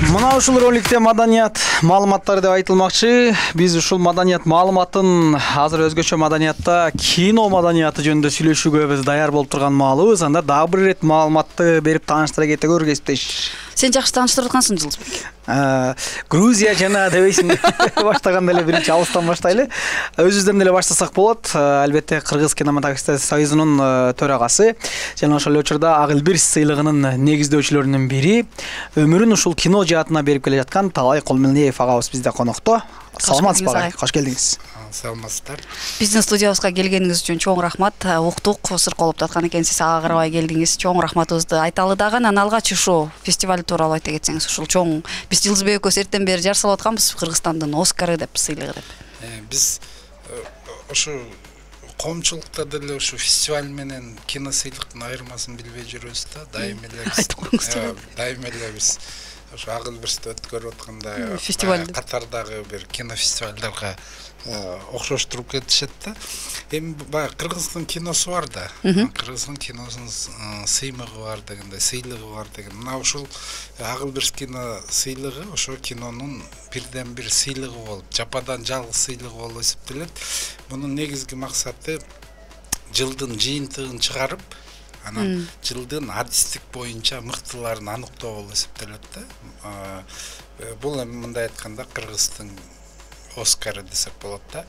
Мына ушул роликте маданият маалыматтары деп айтылмакчы. Биз ушул маданият маалыматын азыр өзгөчө маданиятта кино маданияты жөнүндө сүйлөшүүгө биз даяр болуп турган маалыбыз. Анда дагы бир ирет маалыматты берип тааныштыра кетегөр кесиптеш. Сен жакшы тааныштырып аткансың Жылдызбек. Грузия жана дебейсиң. Баштаганда эле биринчи алыстан баштайлы. Өзүбүздөн эле баштасак болот. Албетте Кыргыз кинематографисттер союзунун төрагасы жана ошол учурда Ак Илбирс сыйлыгынын негиздөөчүлөрүнүн бири, өмүрүн ушул кино жаатына берип келе жаткан Талай Колмелиев агабыз бизде конокто. Саламатсызбы агай? Кош келдиңиз. Саламатсыздар. Биздин студиябызга келгениңиз үчүн чоң рахмат. Уктук, сырколуп аткан экенсиз, ага карабай келдиңиз. Чоң рахматыбызды айталы дагы. Анан алгач ушул фестиваль тууралуу айта кетсеңиз, ушул чоң биз Жылдызбек экөөбүз эртен бери жар салып атканбыз, Кыргызстандын Оскары деп сыйлыгы деп. Биз ошо коомчулукта деле ушу фестиваль менен кино сыйлыктын айырмасын билбей жүрөбүз да. Дайым эле биз ошо Ак Илбирсти өткөрүп атканда катардагы бир кино фестивалдарга окшоштуруп кетишет да. Эми баягы Кыргыздын киносу бар да. Кыргыздын киносунун сыймыгы бар дегенде, сыйлыгы бар деген. Мына ушул Ак Илбирс кино сыйлыгы ошо кинонун бирден бир сыйлыгы болуп, жападан жалгыз сыйлыгы болуп эсептелет. Мунун негизги максаты жылдын жыйынтыгын чыгарып, анан жылдын адистик боюнча мыктыларын аныктоо болуп эсептелет да. Бул эми мындай айтканда Кыргыздын Оскары десек болот да.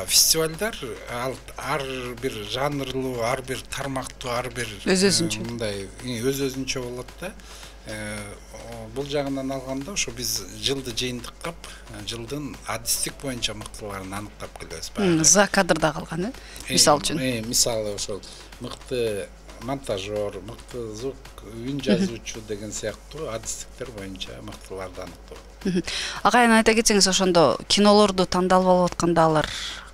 Фестивалдар ар бир жанрлуу, ар бир тармактуу, ар бир мындай өз-өзүнчө болот да. Бул жагынан алганда ошо биз жылды жыйынтыктап, жылдын адистик боюнча мыктыларын аныктап келебиз. За кадрда калган, мисал үчүн. Мисалы ошол мыкты монтажер, мыкты звук, үн жазуучу деген сыяктуу адистиктер боюнча мыктыларды аныктоо. Агайын айта кетсеңиз, ошондо кинолорду тандалып алып атканда алар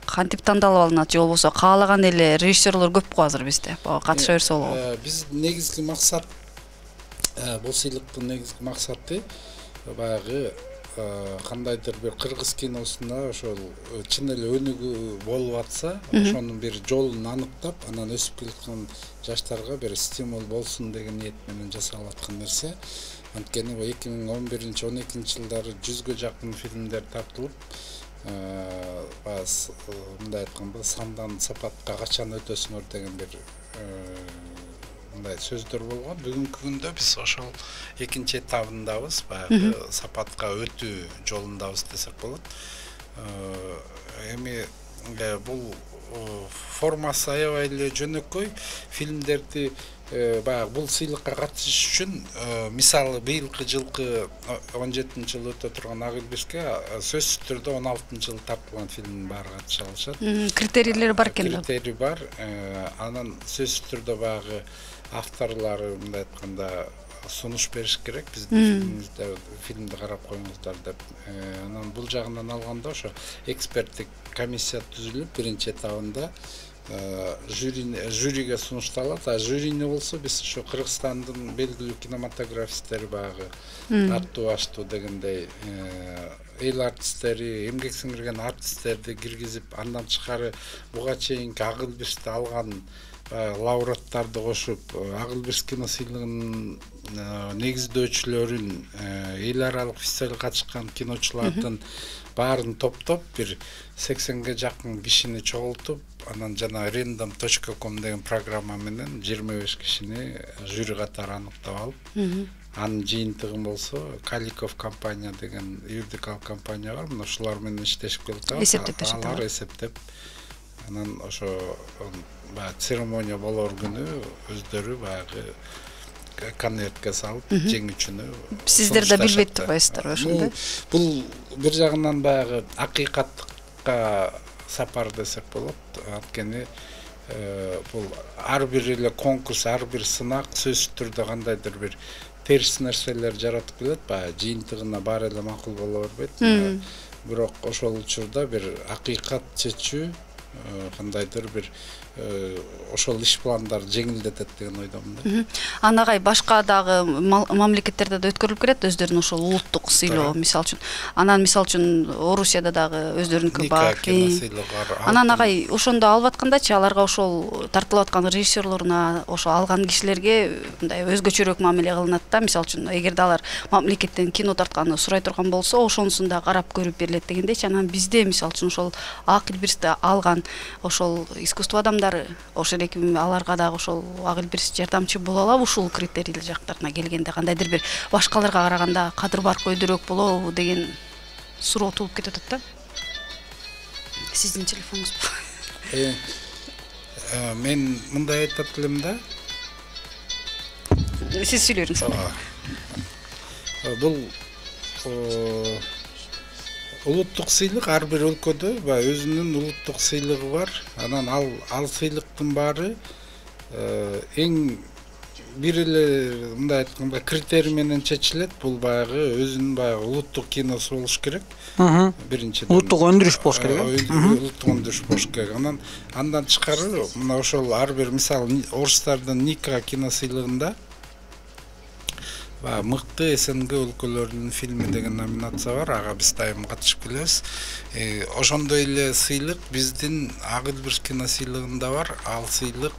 кантип тандалып алынат, же болбосо каалаган эле режиссерлор көп го азыр бизде. Катыша берсе болобу? Биз негизги максат, бул сыйлыктын негизги максаты баягы кандайдыр бир кыргыз киносуна ошол чын эле өнүгүү болуп атса, ошонун бир жолун аныктап, анан өсүп келаткан жаштарга бир стимул болсун деген ниет менен жасалып аткан нерсе. Анткени 2011-12 жылдары 100гө жакын фильмдер тартылып, мындай айтканда сандан сапатка качан өтөсүңөр деген бир мындай сөздөр болгон. Бүгүнкү күндө биз ошол экинчи этабындабыз, баягы сапатка өтүү жолундабыз десек болот. Эми бул формасы аябай эле жөнөкөй. Фильмдерди баягы бул сыйлыкка катышыш үчүн, мисалы быйылкы жылкы 17-жыл өтө турган Ак Илбирске сөзсүз түрдө 16-жыл тартылган фильмдин баары катыша алышат. Критерийлери бар экен. Критерий бар. Анан сөзсүз түрдө баягы авторлору мындай айтканда сунуш бериш керек. Биздин фильмди карап коюңуздар деп. Анан бул жагынан алганда ошо эксперттик комиссия түзүлүп, биринчи этабында жюриге сунушталат. Жюрини болсо биз ошо Кыргызстандын белгилүү кинематографисттери баягы аттуу аштуу дегендей эл артисттери, эмгек сиңирген артисттерди киргизип, андан тышкары буга чейинки Ак Илбирсти алган лауреаттарды кошуп, Ак Илбирс кино сыйлыгынын негиздөөчүлөрүн, эл аралык фестивалга катышкан киночулардын баарын топтоп, бир 80ге жакын кишини чогултуп, анан жана random.com деген программа менен 25 кишини жюри катары аныктап алып, анын жыйынтыгын болсо Каликов компания деген юридикалык компания бар, мына ушулар менен иштешип келатабыз. Алар эсептеп, анан ошо церемония болор күнү өздөрү баягы конвертке салып, жеңүүчүнү сиздер да билбейт турбайсыздар ошондой? Бул бир жагынан баягы акыйкатка сапар десек болот. Анткени бул ар бир эле конкурс, ар бир сынак сөзсүз түрдө кандайдыр бир терс нерселер жаратып келет, баягы жыйынтыгына баары эле макул боло бербейт. Бирок ошол учурда бир акыйкат чечүү, кандайдыр бир ошол иш пландарды жеңилдетет деген ойдомун да. Анагай башка дагы мамлекеттерде да өткөрүлүп келет өздөрүнүн ошол улуттук сыйлоо мисалы үчүн. Анан мисалы үчүн Орусияда дагы өздөрүнүкү бар. Анан агай ошондо алып аткандачы аларга ошол тартылып аткан режиссерлоруна ошо алган кишилерге мындай өзгөчөрөөк мамиле кылынат да. Мисалы үчүн эгерде алар мамлекеттен кино тартканды сурай турган болсо, ошонусун да карап көрүп берилет дегендейчи. Анан бизде мисалы үчүн ошол Ак Илбирсти алган ошол искусство адамдары ошол эки аларга дагы ошол Ак Илбирс жардамчы боло алабы ушул критерий жактарына келгенде кандайдыр бир башкаларга караганда кадыр бар көйдөрөөк болобу деген суроо туулуп кетип атат да. Сиздин телефонуңузбу? Мен мындай айтат элем да. Сиз сүйлөңүз. Бул улуттук сыйлык ар бир өлкөдө өзүнүн улуттук сыйлыгы бар. Анан ал сыйлыктын баары эң бир эле мындай айтканда критерий менен чечилет. Бул баягы өзүнүн баягы улуттук киносу болуш керек. Биринчиден улуттук өндүрүш болуш керек. Улуттук өндүрүш болуш керек. Андан тышкары мына ошол ар бир мисалы орустардын Ника кино сыйлыгында мыкты СНГ өлкөлөрүнүн фильми деген номинация бар. Ага биз дайым катышып келебиз. Ошондой эле сыйлык биздин Ак Илбирс кино сыйлыгында бар. Ал сыйлык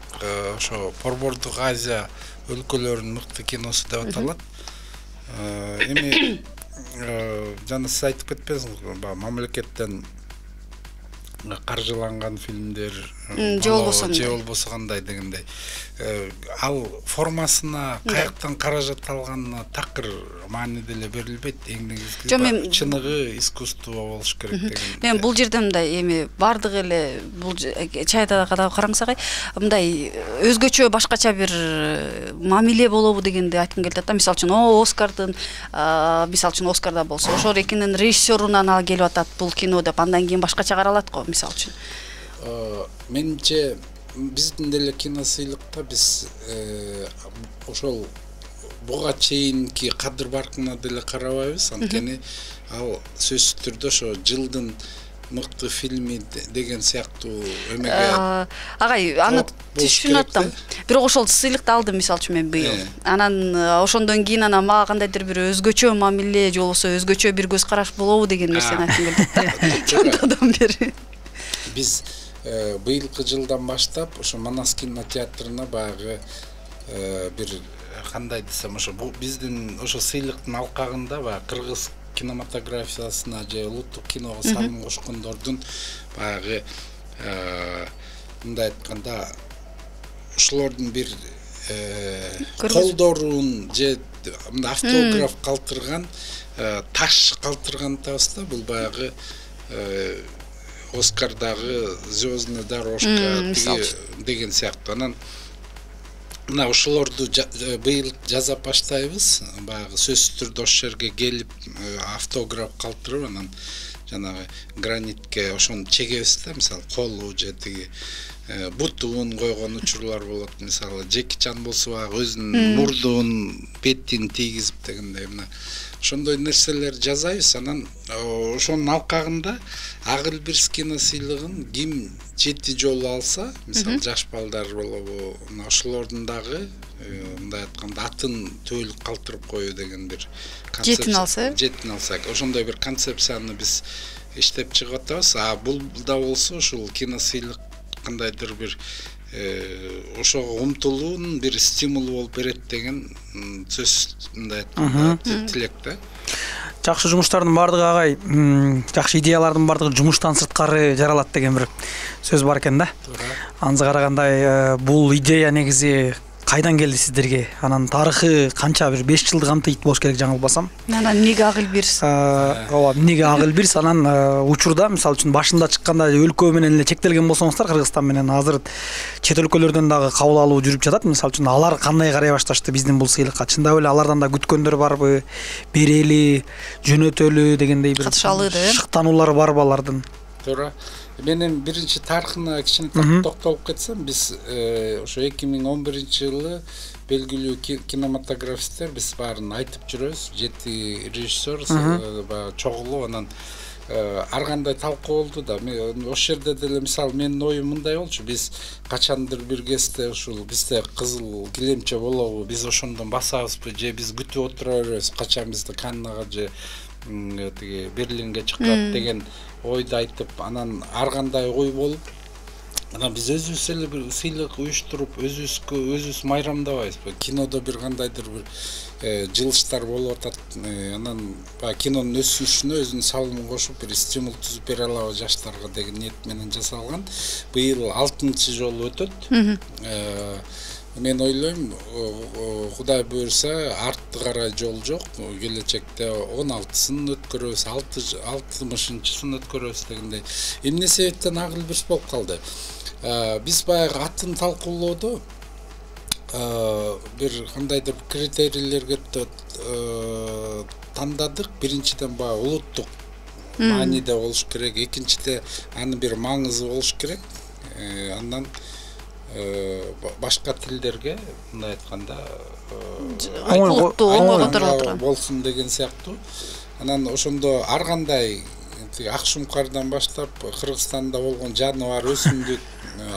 ошо Борбордук Азия өлкөлөрүнүн мыкты киносу деп аталат. Эми жана сиз айтып кетпедиңизби, мамлекеттен каржыланган фильмдер же болбосо кандай дегендей. Ал формасына каяктан каражат алганына такыр маани деле берилбейт. Эң негизги чыныгы искусство болуш керек деген. Мен бул жерде мындай эми бардыгы эле бул чайда да караңсагай мындай өзгөчө башкача бир мамиле болобу дегенди айткым келип атат да. Мисалы үчүн Оскардын мисалы үчүн Оскарда болсо ошол экинин режиссерунан ал келип атат бул кино деп, андан кийин башкача каралат го мисалы үчүн. Менимче биздин деле кино сыйлыкта биз ошол буга чейинки кадыр баркына деле карабайбыз. Анткени ал сөзсүз түрдө ошо жылдын мыкты фильми деген сыяктуу эмеге агай аны түшүнүп аттым. Бирок ошол сыйлыкты алдым мисалы үчүн мен быйыл. Анан ошондон кийин мага кандайдыр бир өзгөчө мамиле же болбосо өзгөчө бир көз караш болобу деген нерсени айткым келди. Чонтодон бери. Биз быйылкы жылдан баштап ошо Манас кинотеатрына баягы бир кандай десем ошо биздин ошо сыйлыктын алкагында баягы кыргыз кинематографиясына же улуттук киного салым кошкондордун баягы мындай айтканда ошолордун бир колдоруун же автограф калтырган таш калтырган атабыз да. Бул баягы Оскардагы звездная дорожка деген сыяктуу. Анан мына ошолорду быйыл жаза баштайбыз. Баягы сөзсүз түрдө ошол жерге келип автограф калтырып, анан жанагы гранитке ошону чегебиз да. Мисалы колу же тиги бутун койгон учурлар болот. Мисалы Джеки Чан болсо баягы өзүнүн мурдун бетин тийгизип дегендей мына ошондой нерселер жасайбыз. Анан ошонун алкагында Ак Илбирс кино сыйлыгын ким 7 жолу алса, мисалы жаш балдар болобу, ошолордун дагы мындай айтканда атын төөлүп калтырып коюу деген бир концепция. Жетин алса, ошондой бир концепцияны биз иштеп чыгып атабыз. Бул да болсо ушул кино сыйлык кандайдыр бир ошого умтулуунун бир стимулу болуп берет деген сөз мындай айтканда тилек да. Жакшы жумуштардын бардыгы агай, жакшы идеялардын бардыгы жумуштан сырткары жаралат деген бир сөз бар экен да. Анысы карагандай бул идея негизи кайдан келди сиздерге? Анан тарыхы канча, бир 5 жылды камтыйт болуш керек жаңылбасам. Анан эмнеге Ак Илбирс? Ооба, эмнеге Ак Илбирс? Анан учурда мисалы үчүн башында чыкканда өлкө менен эле чектелген болсоңуздар, Кыргызстан менен азыр чет өлкөлөрдөн дагы кабыл алуу жүрүп жатат. Мисалы үчүн алар кандай карай башташты биздин бул сыйлыкка? Чындап эле алардан да күткөндөр барбы? Берели, жөнөтөлү дегендей бир шыктануулар барбы алардын? Туура. Менин биринчи тарыхына кичине токтолуп кетсем, биз ошо 2011-жылы белгилүү кинематографисттер биз баарын айтып жүрөбүз. 7 режиссер чогулуп анан ар кандай талкуу болду да. Ошол жерде деле мисалы менин оюм мындай болчу. Биз качандыр бир кезде ушул бизде кызыл килемче болобу, биз ошондон басабызбы же биз күтүп отура беребиз качан бизди Каннага же тиги Берлинге чыккат деген ойду айтып, анан ар кандай ой болуп, анан биз өзүбүз эле бир сыйлык уюштуруп, өзүбүз майрамдабайбызбы. Кинодо бир кандайдыр бир жылыштар болуп атат. Анан кинонун өсүшүнө өзүнүн салымын кошуп, бир стимул түзүп бере алабы жаштарга деген ниет менен жасалган. Быйыл 6-чы жолу өтөт. Мен ойлойм, Кудай буйрса, артты карай жол жок. Келечекте 16-сын өткөрөбүз, 60-сын өткөрөбүз дегендей. Эмне себептен Агыл Бирс болуп калды? Биз баягы атын талкуулоодо бир кандайдыр критерийлерге тандадык. Биринчиден баягы улуттук мааниде болуш керек, экинчиде анын бир маңызы болуш керек. Андан башка тилдерге мындай айтканда оңой болсун деген сыяктуу. Анан ошондо ар кандай ак шумкардан баштап Кыргызстанда болгон жаныбар, өсүмдүк,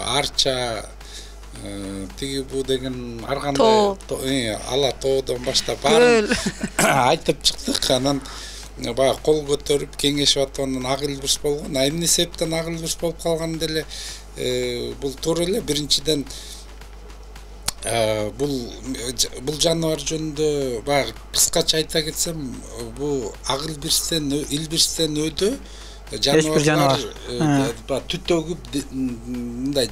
арча, тиги бу деген ар кандай ала тоодон баштап баарын айтып чыктык. Анан баягы кол көтөрүп кеңешип аткандан Агыл Бирс болгон. Эмне себептен Агыл Бирс болуп калган деле бул туура эле. Биринчиден бул жаныбар жөнүндө баягы кыскача айта кетсем, бул Агыл Бирстен, Илбирстен өдө жаныбарлар түтөгүп мындай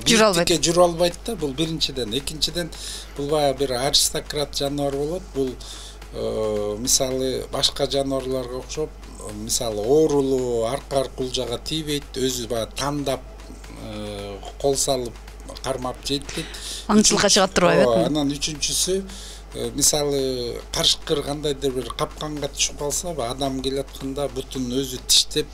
бийликке жүрө албайт да. Бул биринчиден. Экинчиден бул баягы бир аристократ жаныбар болот. Бул мисалы башка жаныбарларга окшоп, мисалы оорулуу, аркар кулжага тийбейт, өзү баягы тандап кол салып кармап жейт дейт. Аңчылыкка чыгат турбайбы? Анан үчүнчүсү, мисалы карышкыр кандайдыр бир капканга түшүп калса, адам келатканда бутун өзү тиштеп,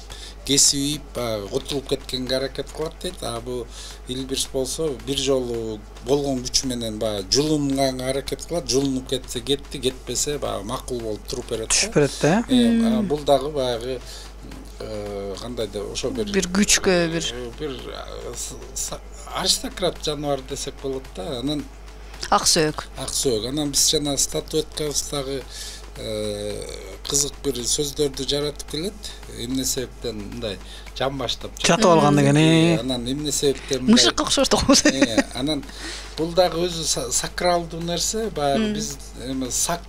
кесип, кутулуп кеткенге аракет кылат дейт. Бул Илбирс болсо бир жолу болгон күчү менен баягы жулунганга аракет кылат. Жулунуп кетсе кетти, кетпесе баягы макул болуп туруп берет. Түшүп берет да. Бул дагы баягы кандайда ошо бир күчкө бир аристократ жаныбар десек болот да. Анан Аксөөк. Анан биз жана статуэткабыздагы кызык бир сөздөрдү жаратып келет. Эмне себептен мындай жан баштап жатып алган деген. Анан эмне себептен мышыкка окшош да. Анан бул дагы өзү сакралдуу нерсе. Баягы биз сак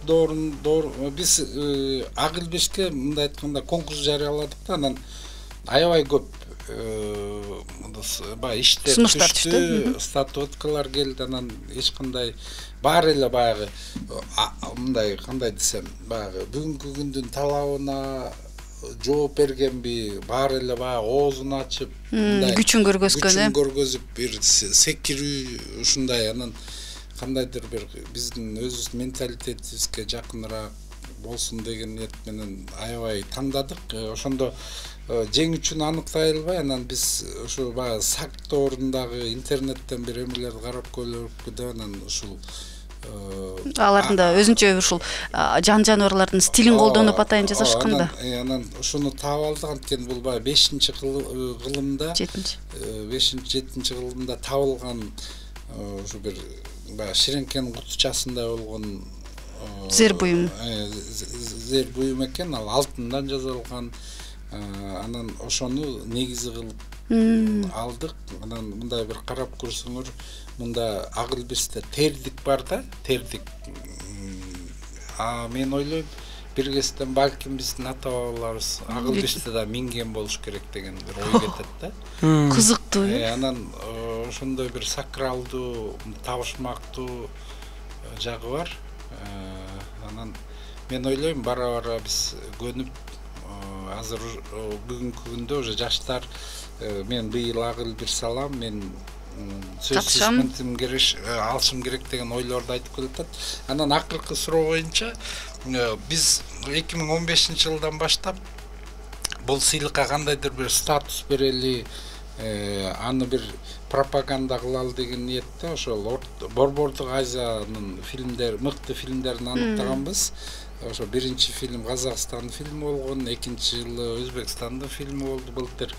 биз Агыл Бирске мындай айтканда конкурс жарыяладык да. Анан аябай көп баягы иштер түштү, статуэткалар келди. Анан эч кандай баары эле баягы мындай кандай десем, баягы бүгүнкү күндүн талабына жооп бергенби, баары эле баягы оозун ачып, күчүн көргөзүп, бир секирүү ушундай. Анан кандайдыр бир биздин өзүбүздүн менталитетибизге жакыныраак болсун деген ниет менен аябай тандадык. Ошондо жеңүүчүнү аныктай албай, анан биз ушу баягы сакт ордундагы интернеттен бир эмелерди карап көрүп, анан ушул алардын да өзүнчө ушул жаныбарлардын стилин колдонуп атайын жасашкан да. Анан ушуну таап алдык. Анткени бул баягы 5-чи кылымда, 5-7-чи кылымда табылган ушу бир баягы ширеңкенин кутучасындай болгон зер буюм. Зер буюм экен, ал алтындан жасалган. Анан ошону негизи кылып алдык. Анан мындай бир карап көрсөңөр, мында Агыл Бирсте тердик бар да, тердик. Мен ойлойм, бир кезден балким биздин ата бабаларыбыз Агыл Бирсте да минген болуш керек деген бир ой кетет да. Кызыктуу. Анан ошондой бир сакралдуу, табышмактуу жагы бар. Анан мен ойлойм, бара-бара биз көнүп, азыр бүгүнкү күндө уже жаштар, мен быйыл Агыл Бирс алам, мен сөзсүз алышым керек деген ойлорду айтып келатат. Анан акыркы суроо боюнча, биз 2015-жылдан баштап бул сыйлыкка кандайдыр бир статус берели, аны бир пропаганда кылалы деген ниетте ошол Борбордук Азиянын мыкты фильмдерин аныктаганбыз. ошо биринчи фильм Казакстандын фильми болгон, экинчи жылы Өзбекстандын фильми болду былтыр.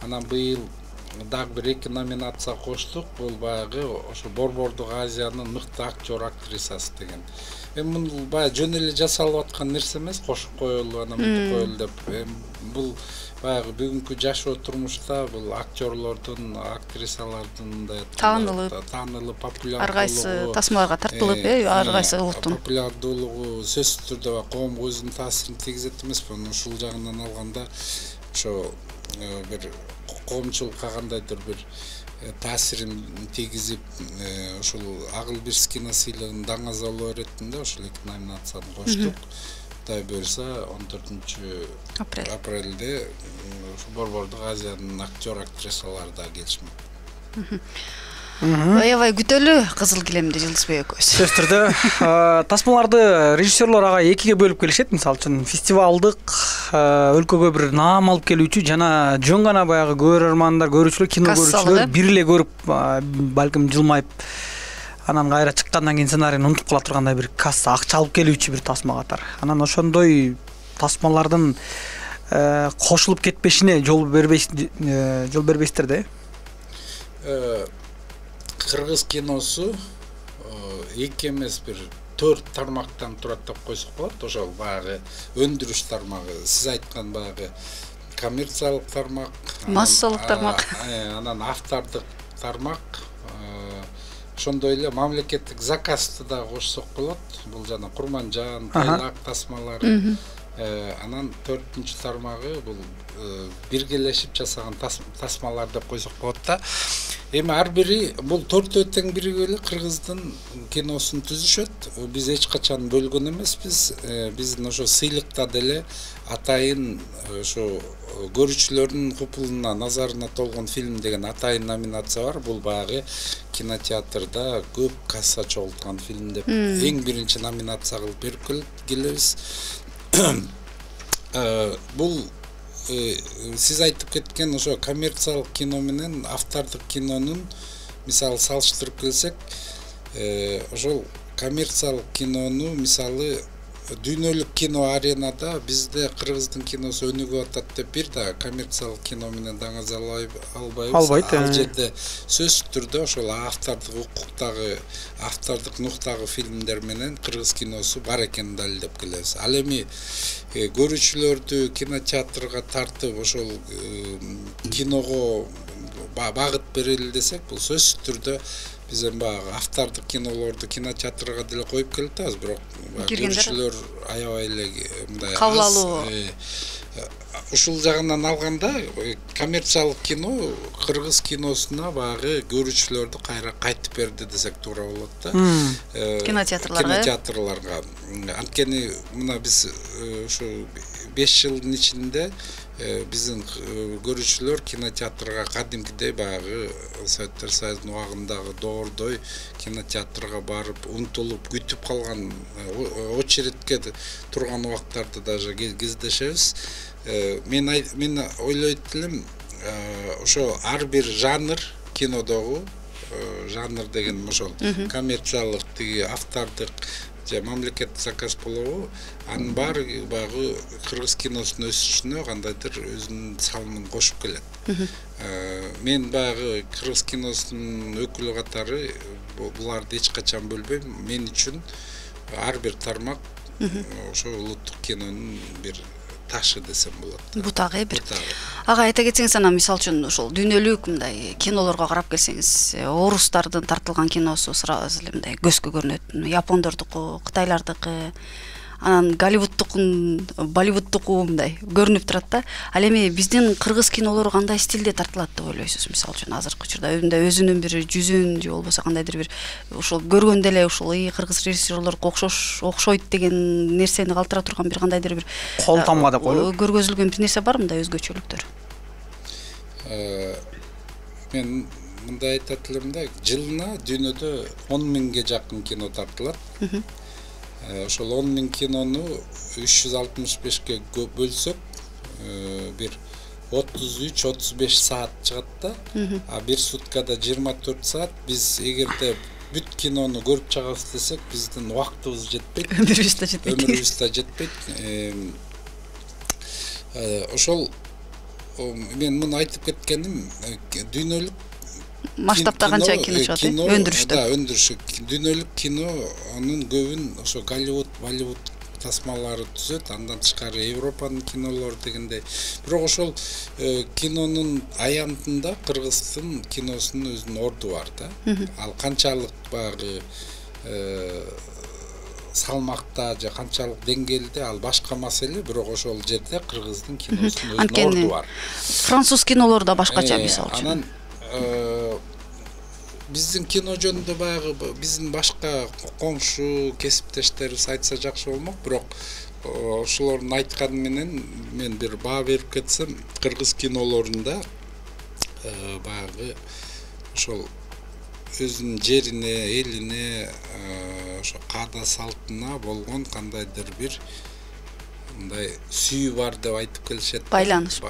Анан быйыл дагы бир 2 номинация коштук. Бул баягы ошо Борбордук Азиянын мыкты актер актрисасы деген. Бул баягы жөн эле жасалып аткан нерсе эмес, кошуп коелу, анан мынтип коелу деп. Бул баягы бүгүнкү жашоо турмушта бул актерлордун, актрисалардын мындай таанылып популярдуулугу, ар кайсы тасмаларга тартылып, ар кайсы улуттун популярдуулугу сөзсүз түрдө коомго өзүнүн таасирин тийгизет эмеспи? Ушул жагынан алганда ошо бир коомчулукка кандайдыр бир таасирин тийгизип, ушул Акыл Бирс кино сыйлыгын даңазалоо иретинде ошол 2 номинацияны коштук. Кудай буюрса 14 апрелде Борбордук Азиянын актер актрисалары да келишмек. Аябай күтөлү Кызыл килемди Жылдызбек экөөбүз. Сөзсүз түрдө тасмаларды режиссерлор ага экиге бөлүп келишет. Мисалы үчүн фестивалдык өлкөгө бир наам алып келүүчү жана жөн гана баягы көрөрмандар, көрүүчүлөр, кино көрүүчүлөр бир эле көрүп, балким жылмайып анан кайра чыккандан кийин сценарийни унутуп кала тургандай бир касса акча алып келүүчү бир тасма катар. Анан ошондой тасмалардын кошулуп кетпешине жол бербейсиздер да. Кыргыз киносу 2 эмес бир 4 тармактан турат деп койсок болот. Ошол баягы өндүрүш тармагы, сиз айткан баягы коммерциялык тармак, массалык тармак, анан автордук тармак, ошондой эле мамлекеттик заказды да кошсок болот. Бул жана Курманжан, Тайлак тасмалары. Анан 4-нчү тармагы бул биргелешип жасаган тасмалар деп койсок болот да. Эми ар бири бул 4 тең биригип эле кыргыздын киносун түзүшөт. Биз эч качан бөлгөн эмеспиз. Биздин ошо сыйлыкта деле атайын ошо көрүүчүлөрдүн купулуна, назарына толгон фильм деген атайын номинация бар. Бул баягы кинотеатрда көп касса чогулткан фильм деп эң биринчи номинация кылып берип келебиз. Бул сиз айтып кеткен ошо коммерциялык кино менен автордук кинонун мисалы салыштырып келсек, ошол коммерциялык кинону мисалы дүйнөлүк кино аренада бизде кыргыздын киносу өнүгүп атат деп бир да коммерциялык кино менен даңазалай албайбыз. Ал жерде сөзсүз түрдө ошол автордук укуктагы, автордук нуктагы фильмдер менен кыргыз киносу бар экенин далилдеп келебиз. Ал эми көрүүчүлөрдү кинотеатрга тартып ошол киного багыт берели десек, бул сөзсүз түрдө биз эми баягы автордук кинолорду кинотеатрга деле коюп келатабыз, бирок көрүүчүлөр аябай эле мындай кабыл алуу. Ушул жагынан алганда коммерциялык кино кыргыз киносуна баягы көрүүчүлөрдү кайра кайтып берди десек туура болот да. Кинотеатрларга. Анткени мына биз ушу 5 жылдын ичинде биздин көрүүчүлөр кинотеатрга кадимкидей баягы Советтер Союзунун убагындагы доордой кинотеатрга барып, умтулуп, күтүп калган, очередке турган убактарды даже кездешебиз. Мен ойлойт элем, ошо ар бир жанр кинодогу, жанр деген ошол коммерциялык, тиги автордук же мамлекеттик заказ болобу, анын баары баягы кыргыз киносунун өсүшүнө кандайдыр өзүнүн салымын кошуп келет. Мен баягы кыргыз киносунун өкүлү катары буларды эч качан бөлбөйм. Мен үчүн ар бир тармак ошо улуттук кинонун бир ташы десем болот. Бутагы бир. Ага айта кетсеңиз, анан мисалы үчүн ошол дүйнөлүк мындай кинолорго карап келсеңиз, орустардын тартылган киносу сразу эле мындай көзгө көрүнөт. Япондордуку, кытайлардыкы, анан Голливудтукун, Болливудтуку мындай көрүнүп турат да. Ал эми биздин кыргыз кинолору кандай стилде тартылат деп ойлойсуз? Мисалы үчүн азыркы учурда өзүнүн бир жүзүн же болбосо кандайдыр бир ошол көргөндө эле ушул кыргыз режиссерлорго окшойт деген нерсени калтыра турган бир кандайдыр бир кол тамга деп коелу. Көргөзүлгөн бир нерсе бар мындай өзгөчөлүктөр? Мен мындай айтат элем да, жылына дүйнөдө 10 миңге жакын кино тартылат. Ошол 10 миң кинону 365ке бөлсөк, бир 33-35 саат чыгат да. А бир суткада 24 саат. Биз эгерде бүт кинону көрүп чыгабыз десек, биздин убактыбыз жетпейт. Өмүрүбүз да жетпейт. Өмүрүбүз да жетпейт. Ошол мен муну айтып кеткеним, дүйнөлүк масштабта канча кино чыгат, өндүрүштө. Да, өндүрүшү. Дүйнөлүк кинонун көбүн ошо Голливуд, Болливуд тасмалары түзөт, андан тышкары Европанын кинолору дегендей. Бирок ошол кинонун аянтында Кыргыздын киносунун өзүнүн орду бар да. Ал канчалык багы салмакта же канчалык деңгээлде ал башка маселе, бирок ошол жерде Кыргыздын киносунун өзүнүн орду бар. Француз кинолору да башкача, мисалы үчүн. Анан биздин кино жөнүндө баягы биздин башка коңшу кесиптештерибиз айтса жакшы болмок, бирок ошолордун айтканы менен мен бир баа берип кетсем, кыргыз кинолорунда баягы ошол өзүнүн жерине, элине, ошо каада салтына болгон кандайдыр бир мындай сүйүү бар деп айтып келишет. Байланыш.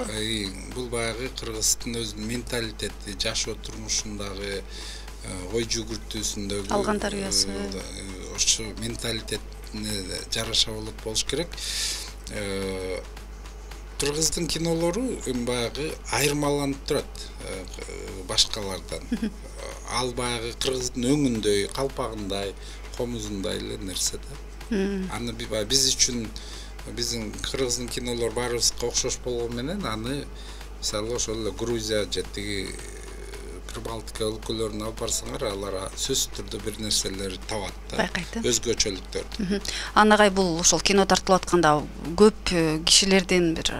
Бул баягы кыргыздын өзүнүн менталитети, жашоо турмушундагы, ой жүгүртүүсүндөгү алган тарбиясы, ошо менталитетине жараша болуш керек. Кыргыздын кинолору баягы айырмаланып турат башкалардан. Ал баягы кыргыздын өңүндөй, калпагындай, комузундай эле нерсе да. Аны биз үчүн биздин кыргыздын кинолор баарыбызга окшош болгон менен аны мисалы ошол эле Грузия же тиги Прибалтика өлкөлөрүнө алып барсаңар, алар сөзсүз түрдө бир нерселер табат да. Өзгөчөлүктөрдү. Анагай бул ошол кино тартылып атканда көп кишилердин бир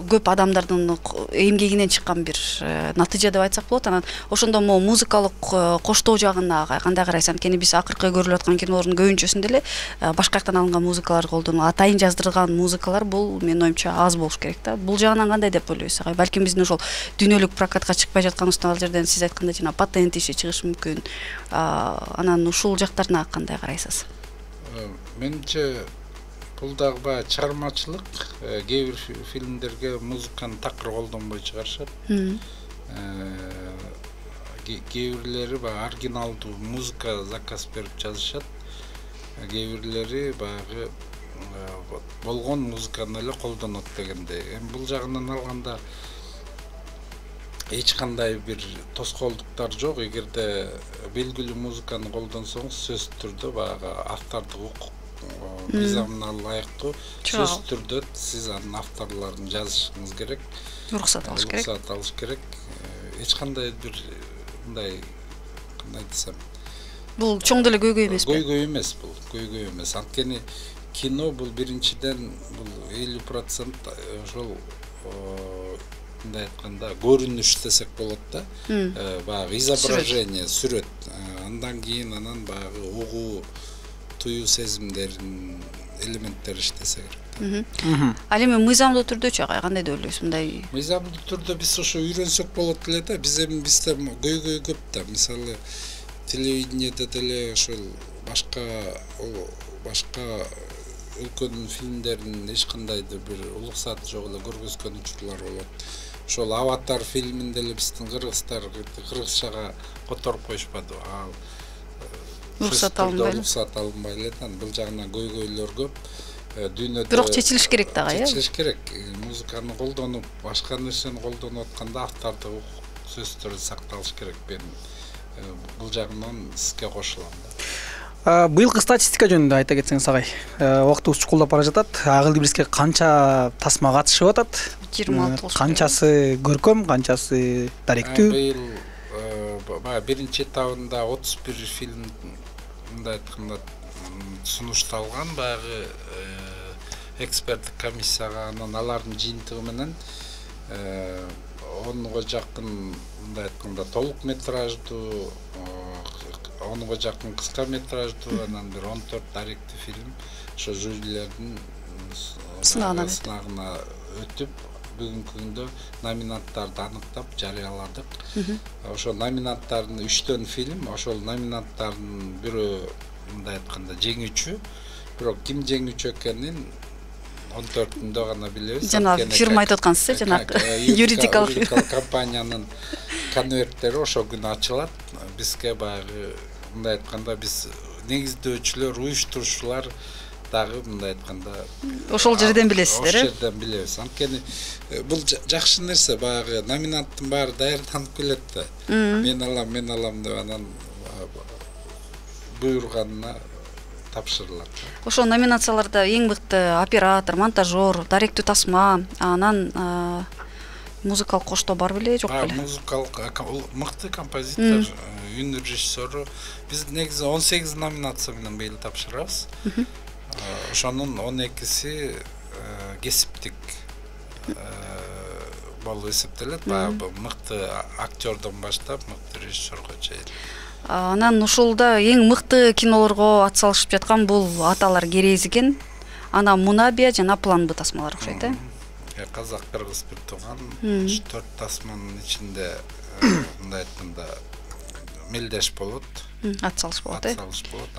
көп адамдардын эмгегинен чыккан бир натыйжа деп айтсак болот. Анан ошондо могу музыкалык коштоо жагына кандай карайсың? Анткени биз акыркы көрүлүп аткан кинолордун көбүнчөсүндө эле башка жактан алынган музыкалар колдонулат. Атайын жаздырылган музыкалар бул менин оюмча аз болуш керек да. Бул жагынан кандай деп ойлойсуз агай? Балким биздин ошол дүйнөлүк прокатка чыкпай жаткан ал жерден сиз айткандай жана патент иши чыгышы мүмкүн. Анан ушул жактарына кандай карайсыз? Менимче бул дагы баягы чыгармачылык. Кээ бир фильмдерге музыканы такыр колдонбой чыгарышат. Кээ бирлери баягы оригиналдуу музыка заказ берип жазышат. Кээ бирлери баягы болгон музыканы эле колдонот дегендей. Бул жагынан алганда эч кандай бир тоскоолдуктар жок. Эгерде белгилүү музыканы колдонсоңуз, сөзсүз түрдө баягы автордук укук мыйзамына ылайыктуу сөзсүз түрдө сиз анын авторлорун жазышыңыз керек. Уруксат алыш керек. Эч кандай бир мындай кандай десем, бул чоң деле көйгөй эмеспи? Көйгөй эмес. Анткени кино бул биринчиден бул 50% ошол мындай айтканда көрүнүш десек болот да. Баягы изображение, сүрөт. Андан кийин анан баягы угуу, туюу сезимдердин элементтери иштесе керек. Ал эми мыйзамдуу түрдөчү агай кандай деп ойлойсуз? Мындай мыйзамдуу түрдө биз ошо үйрөнсөк болот эле да. Бизде көйгөй көп да. Мисалы телевидениеде деле ошол башка өлкөнүн фильмдерин эч кандайдыр бир уруксаты жок эле көргөзгөн учурлар болот. Ошол Аватар фильмин деле биздин кыргыздар кыргызчага которуп коюшпады. Уруксат алынбай эле. Бул жагынан көйгөйлөр көп. Дүйнөдө бирок чечилиш керек да агай. Чечилиш керек. Музыканы колдонуп, башка нерсени колдонуп атканда автордук сөзсүз түрдө сакталыш керек. Мен бул жагынан сизге кошулам да. Быйылкы статистика жөнүндө айта кетсеңиз агай. Убактыбыз чукулдап бара жатат. Агыл Кибириске канча тасма катышып атат? 26 болуш керек. Канчасы көркөм, канчасы даректүү? Быйыл биринчи этабында 31 фильм мындай айтканда сунушталган баягы эксперттик комиссияга. Анан алардын жыйынтыгы менен 10га жакын мындай айтканда толук метраждуу, 10га жакын кыска метраждуу, анан бир 14 даректүү фильм ошо жюрилердин сынагына өтүп, бүгүнкү күндө номинанттарды аныктап жарыяладык. Ошо номинанттардын 3төн фильм, ошол номинанттардын бирөө мындай айтканда жеңүүчү. Бирок ким жеңүүчү экенин 14-үндө гана билебиз. Жана фирма айтып аткансыз, жана юридикалык компаниянын конверттери ошол күнү ачылат. Бизге баягы мындай айтканда биз негиздөөчүлөр, уюштуруучулар дагы мындай айтканда ошол жерден билесиздер, Ошол жерден билебиз. Анткени бул жакшы нерсе, баягы номинанттын баары даярданып келет да. Мен алам деп анан буйруганына тапшырылат. Ошол номинацияларда эң мыкты оператор, монтажер, даректүү тасма, анан музыкалык коштоо бар беле, жок беле? Музыкалык мыкты композитор, үн режиссеру. Биз негизи 18 номинация менен быйыл тапшырабыз. Ошонун 12си кесиптик болуп эсептелет. Баягы мыкты актердон баштап мыкты режиссерго чейин. Анан ушулда эң мыкты кинолорго атсалышып жаткан бул Аталар керез экен. Анан Мунабия жана План Б тасмалар окшойт, Казак, кыргыз бир тууган 4 тасманын ичинде мындай айтканда мелдеш болот. Атсалыш болот,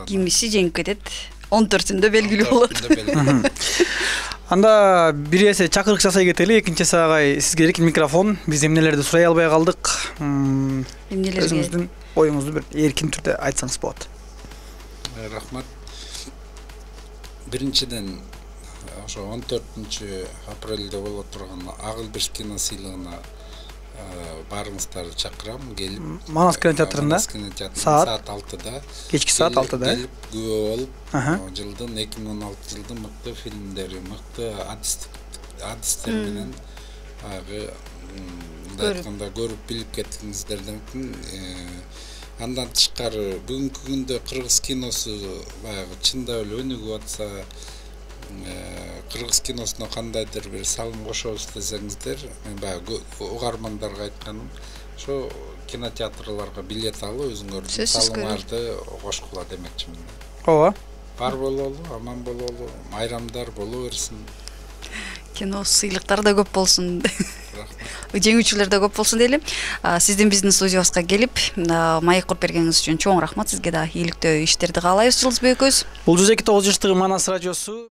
Кимиси жеңип кетет. 14-үндө белгилүү болот. Анда бир эсе чакырык жасай кетели. Экинчи агай, сизге эркин микрофон. Биз эмнелерди сурай албай калдык. Өзүңүздүн оюңузду бир эркин түрдө айтсаңыз болот. Рахмат. Биринчиден ошо 14-апрелде боло турган Агылбеш кино сыйлыгына барыңыздарды чакырам, келип. Манас кинотеатрында саат 6-да. Кечки саат 6-да. Келип күбө болуп, жылдын 2016 жылдын мыкты фильмдери, мыкты адистер менен айтканда көрүп билип кеттиңиздерден андан тышкары бүгүнкү күндө кыргыз киносу баягы чындап эле өнүгүп атса, кыргыз киносуна кандайдыр бир салым кошобуз десеңиздер, мен баягы угармандарга айтканым, ошо кинотеатрларга билет алып, өзүңөрдүн салымыңарды кошкула демекчимин. Ооба. Бар бололу, аман бололу, майрамдар боло берсин. Кино сыйлыктар да көп болсун. Жеңүүчүлөр да көп болсун дейли. Сиздин биздин студиябызга келип, маек куруп бергениңиз үчүн чоң рахмат. Сизге да ийгиликтүү иштерди каалайбыз, Жылдызбек экөөбүз. Бул 102.9 Манас радиосу.